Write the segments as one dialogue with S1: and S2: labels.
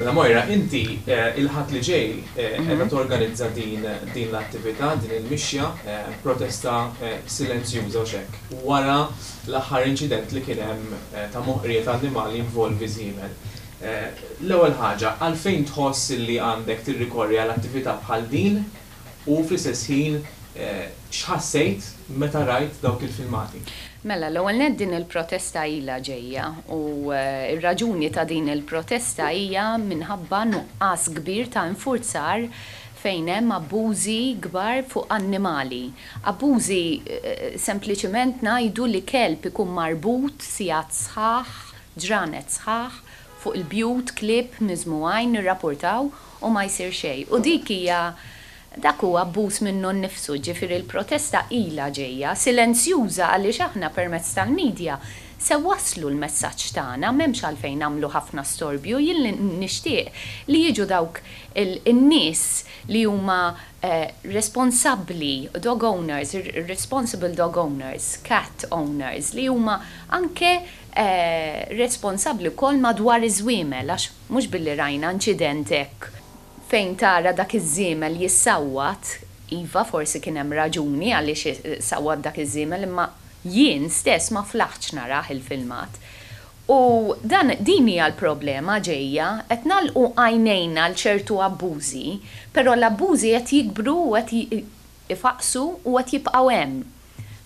S1: Mela Moira, inti il-Ħadd li ġej qiegħda torganizza din din l-attività, din il-mixja, protesta silenzjuża u x'hekk, wara l-aħħar inċident li kien hemm ta' moħqrija ta' annimali jinvolvi żiemel. L-ewwel ħaġa, għalfejn tħoss li għandek tirrikorri għal attività bħal din u fl-istess ħin x'ħassejt meta rajt dawk il-filmati?
S2: Mela, l-ewwel nett din il-protesta ilha ġejja u r-raġuni ta' din il-protesta hija minħabba nuqqas kbir ta' infurzar fejn hemm abbużi kbar fuq annimali. Abbużi sempliċiment ngħidu li kelb ikun marbut sigħat sħaħ, ġranet sħaħ fuq il-bjut, klieb miżmugħin nirrapurtaw u ma jsir xejn. U dik hija Dak hu abbuż minnu nnifsu, ġifieri l-protesta ilha ġejja, silenzjuża għaliex aħna permezz tal-media se wasslu l-messaġġ tagħna, m'hemmx għalfejn nagħmlu ħafna storbju, jien li nixtieq li jiġu dawk in-nies li huma responsabbli, dog owners, responsible dog owners, cat owners, li huma anke responsabbli wkoll madwar iż-żwiemel għax mhux billi rajna inċident hekk Fejn tara dak iż-żiemel jissawwat, iva forsi kien hemm raġuni għaliex sawwat dak iż-żiemel imma jien stess ma flaħtx narah il-filmat. U dan din hija l-problema ġejja, qed nagħlqu għajnejna għal ċertu abbużi, però l-abbużi qed jikbru u qed ifaqqsu u qed jibqgħu hemm.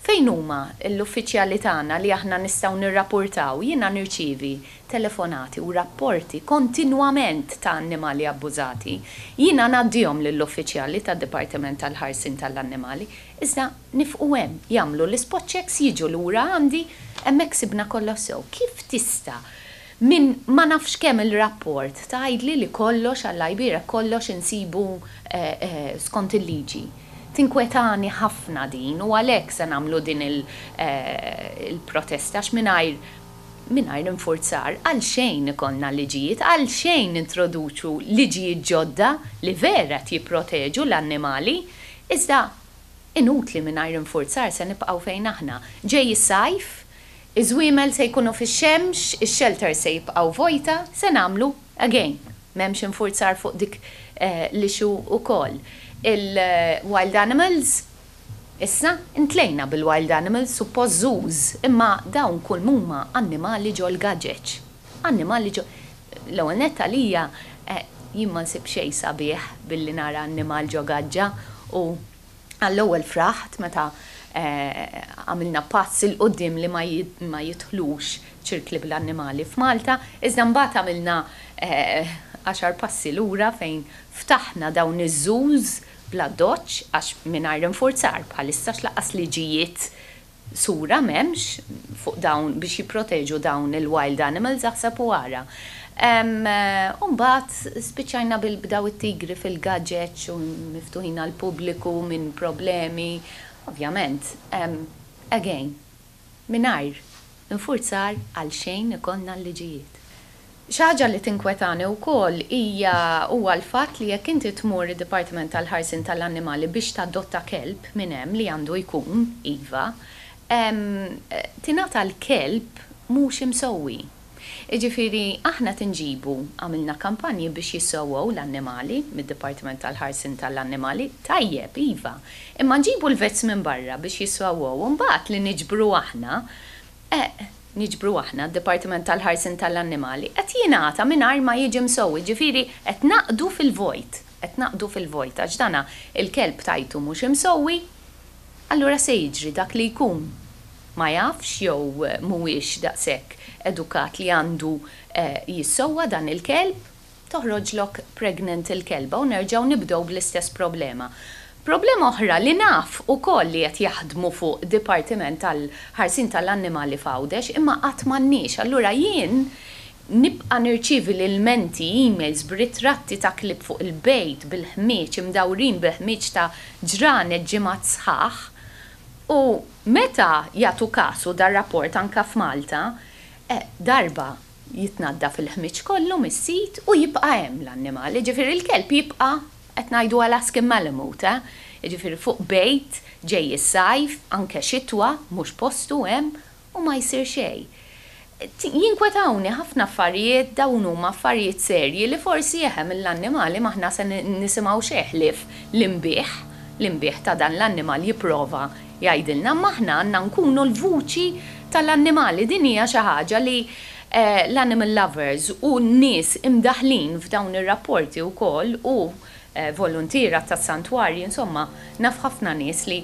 S2: Fejn huma l-uffiċjali tagħna li aħna nistgħu nirrapurtaw? Jiena nirċievi telefonati u rapporti kontinwament ta' annimali abbużati. Jiena ngħaddihom lill-uffiċjali tad-Dipartiment tal-Ħarsien tal-Annimali, iżda nifqu hemm, jagħmlu l-ispot checks, jiġu lura għandi, hemmhekk sibna kollox sew. Kif tista' minn ma nafx kemm il-rapport tgħidli li kollox, Alla jbierek, kollox insibu skont il-liġi? Tinkwetani ħafna din u għalhekk se nagħmlu din il-protesta għax mingħajr mingħajr infurzar għalxejn ikollna liġijiet, għalxejn nintroduċu liġijiet ġodda li vera qed jipproteġu l-annimali, iżda inutli mingħajr infurzar se nibqgħu fejn aħna. Ġej is-sajf, iż-żwiemel se jkunu fix-xemx, ix-shelters se jibqgħu vojta, se nagħmlu again. M'hemmx infurzar fuq dik l-issue ukoll. Il-wild animals, issa intlejna bil-wild animals, suppost zoos, imma dawn kull m'huma annimali ġol-gaġeġ. Annimali ġo, l-ewwel nett għalija jien ma nsib xejn sabiħ billi nara annimal ġo gaġġa u Għall-ewwel fraħt meta għamilna pass 'il quddiem li ma jidħlux ċirkli bl-annimali f'Malta, iżda mbagħad għamilna għaxar passi lura fejn ftaħna dawn iż-zoos bl-addoċċ għax mingħajr infurzar bħalissa għax lanqas liġijiet sura m'hemmx fuq dawn biex jipproteġu dawn il-wild animals aħseb u ara. U mbagħad spiċċajna bil b'daw it-tigri fil-gaġeġ u miftuħin għall-pubbliku minn problemi. Ovvjament, again, mingħajr infurzar għalxejn ikollna l-liġijiet. Xi ħaġa li tinkwetani wkoll hija huwa l-fatt li jekk inti tmur id-Dipartiment tal-Ħarsien tal-Annimali biex tadotta kelb minn hemm li għandu jkun, iva, tingħata l-kelb mhux imsewwi. Jiġifieri aħna qed inġibu, għamilna kampanji biex jissewwew l-annimali mid-Dipartiment tal-Ħarsien tal-Annimali, tajjeb, iva, imma nġibu l-vets minn barra biex jissewwew u mbagħad li niġbru aħna, niġbru aħna, d-Dipartiment tal-Ħarsien tal-Annimali, qed jingħata mingħajr ma jiġi msewwi, ġifieri qed naqdu fil-vojt, qed naqdu fil-vojt għax dana il-kelb tajtu mhux imsewwi, allura se jiġri dak li jkun ma jafx jew mhuwiex daqshekk edukat li għandu jissewwa dan il-kelb, toħroġlok pregnant il-kelba u nerġgħu nibdew bl-istess problema. Problema oħra li naf ukoll li qed jaħdmu fuq dipartiment tal-ħarsien tal-annimali f'Għawdex imma qatt m'għandniex. Allura jien nibqa' nirċievi l-ilmenti, emails b'ritratti ta' klieb fuq il-bejt bil-ħmieġ, imdawrin bil-ħmieġ ta' ġranet ġimgħat sħaħ u meta jagħtu kasu dar-rapport anke f'Malta, darba jitnaddaf il-ħmieġ kollu mis-sit u jibqa' hemm l-annimal. Jiġifieri l-kelb jibqa' qed ngħidu Alaskan Malamute, eh? Jiġifieri fuq bejt, ġej is-sajf, anke xitwa, mhux postu hemm, u ma jsir xejn. Jinkwetawni ħafna affarijiet, dawn huma affarijiet serji li forsi eħe mill-annimali m'aħna se nisimgħu xejn ħlief l-inbiħ, l-inbiħ ta' dan l-annimal jipprova jgħidilna, imma aħna għandna nkunu l-vuċi tal-annimali. Din hija xi ħaġa li l-animal lovers u n-nies imdaħħlin f'dawn ir-rapporti wkoll u voluntiera tas-santwarji, insomma, naf ħafna nies li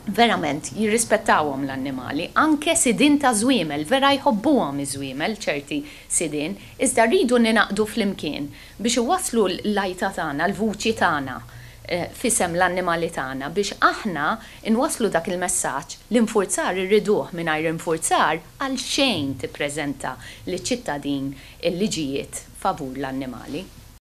S2: verament jirrispettawhom l-annimali, anke sidien ta' żwiemel, vera jħobbuhom iż-żwiemel ċerti sidien, iżda rridu ningħaqdu flimkien biex iwasslu l-għajta tagħna, l-vuċi tagħna f'isem l-annimali tagħna biex aħna nwasslu dak il-messaġġ l-infurzar irriduh. Mingħajr infurzar għal xejn tippreżenta liċ-ċittadin il-liġijiet favur l-annimali.